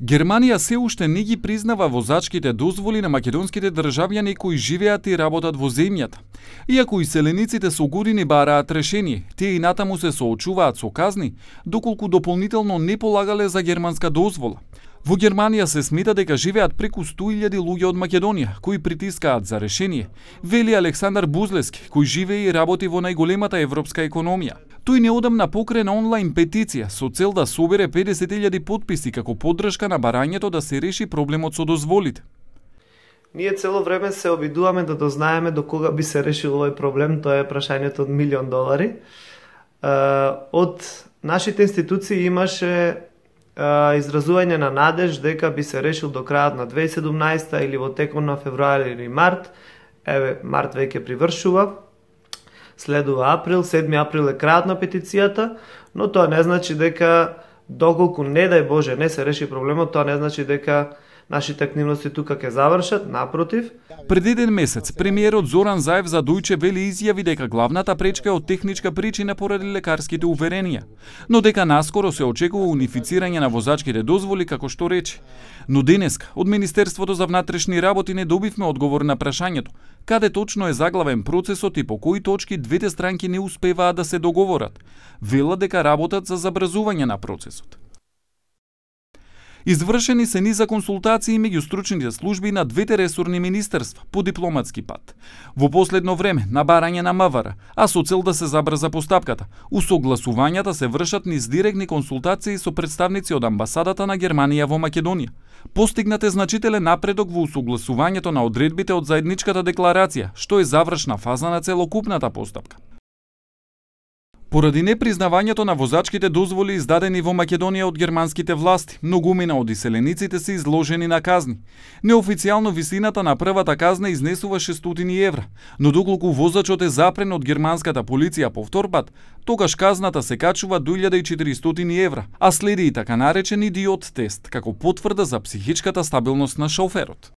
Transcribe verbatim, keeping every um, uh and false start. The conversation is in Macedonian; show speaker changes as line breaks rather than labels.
Германија се уште не ги признава возачките дозволи на македонските државјани кои живеат и работат во земјата. Иако иселениците со години бараат решение, тие и натаму се соочуваат со казни, доколку дополнително не полагале за германска дозвола. Во Германија се смета дека живеат преку сто илјади луѓе од Македонија кои притискаат за решение, вели Александар Бузлески, кој живее и работи во најголемата европска економија. Тој неодамна покрена онлайн петиција со цел да собере педесет илјади потписи како поддршка на барањето да се реши проблемот со дозволите.
Ние цело време се обидуваме да дознаеме до кога би се решил овој проблем, тоа е прашањето од милион долари. Од нашите институции имаше изразување на надеж дека би се решил до крајот на две илјади и седумнаесета или во текот на февруари или март. Еве, март веќе привршува. Следува април, седми април е крајот на петицијата, но тоа не значи дека доколку не дај Боже не се реши проблемот, тоа не значи дека нашите активности тука ќе завршат, напротив.
Пред еден месец, премиерот Зоран Заев за Дојче Вели изјави дека главната пречка е од техничка причина поради лекарските уверенија, но дека наскоро се очекува унифицирање на возачките дозволи, како што рече. Но денеска, од Министерството за внатрешни работи не добивме одговор на прашањето, каде точно е заглавен процесот и по кои точки двете странки не успеваат да се договорат. Велат дека работат за забрзување на процесот. Извршени се низа консултации меѓу стручните служби на двете ресорни министерства по дипломатски пат. Во последно време на барање на МВР, а со цел да се забрза постапката, усогласувањата се вршат низ директни консултации со представници од амбасадата на Германија во Македонија. Постигнат е значителен напредок во усогласувањето на одредбите од заедничката декларација, што е завршна фаза на целокупната постапка. Поради непризнавањето на возачките дозволи издадени во Македонија од германските власти, многумина од иселениците се изложени на казни. Неофицијално висината на првата казна изнесува шестстотини евра, но доколку возачот е запрен од германската полиција повтор пат, тогаш казната се качува до илјада и четиристотини евра, а следи и така наречен идиот тест, како потврда за психичката стабилност на шоферот.